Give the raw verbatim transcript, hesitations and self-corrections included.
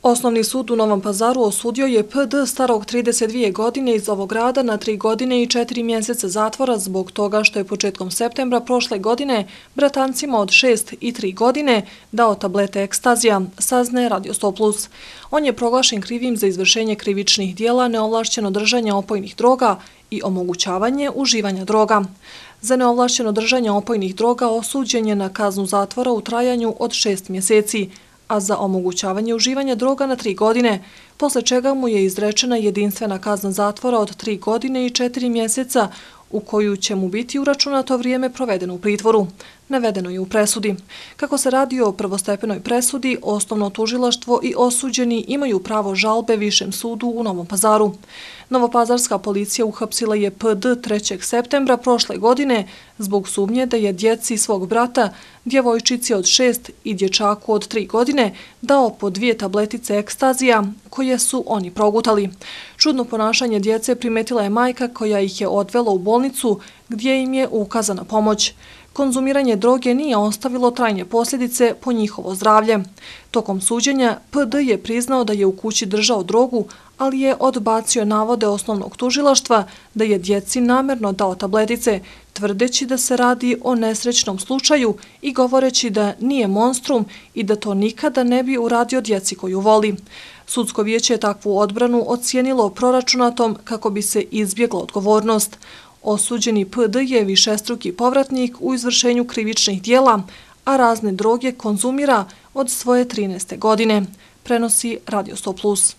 Osnovni sud u Novom Pazaru osudio je P D starog trideset dvije godine iz ovog grada na tri godine i četiri mjeseca zatvora zbog toga što je početkom septembra prošle godine bratancima od šest i tri godine dao tablete ekstazija, saznaje Radio sto plus. On je proglašen krivim za izvršenje krivičnih dijela, neovlašćeno držanje opojnih droga i omogućavanje uživanja droga. Za neovlašćeno držanje opojnih droga osuđen je na kaznu zatvora u trajanju od šest mjeseci, a za omogućavanje uživanja droga na tri godine, posle čega mu je izrečena jedinstvena kazna zatvora od tri godine i četiri mjeseca, u koju će mu biti uračunato vrijeme provedeno u pritvoru. Navedeno je u presudi. Kako se radi o prvostepenoj presudi, osnovno tužilaštvo i osuđeni imaju pravo žalbe Višem sudu u Novom Pazaru. Novopazarska policija uhapsila je P D trećeg septembra prošle godine zbog sumnje da je djeci svog brata, djevojčici od šest i dječaku od tri godine, dao po dvije tabletice ekstazija koje su oni progutali. Čudno ponašanje djece primetila je majka koja ih je odvela u bolnicu gdje im je ukazana pomoć. Konzumiranje droge nije ostavilo trajne posljedice po njihovo zdravlje. Tokom suđenja P D je priznao da je u kući držao drogu, ali je odbacio navode osnovnog tužilaštva da je djeci namerno dao tabletice, tvrdeći da se radi o nesrećnom slučaju i govoreći da nije monstrum i da to nikada ne bi uradio djeci koju voli. Sudsko vijeće je takvu odbranu ocijenilo proračunatom kako bi se izbjegla odgovornost. Osuđeni P D je višestruki povratnik u izvršenju krivičnih dijela, a razne droge konzumira od svoje trinaeste godine, prenosi Radio sto plus.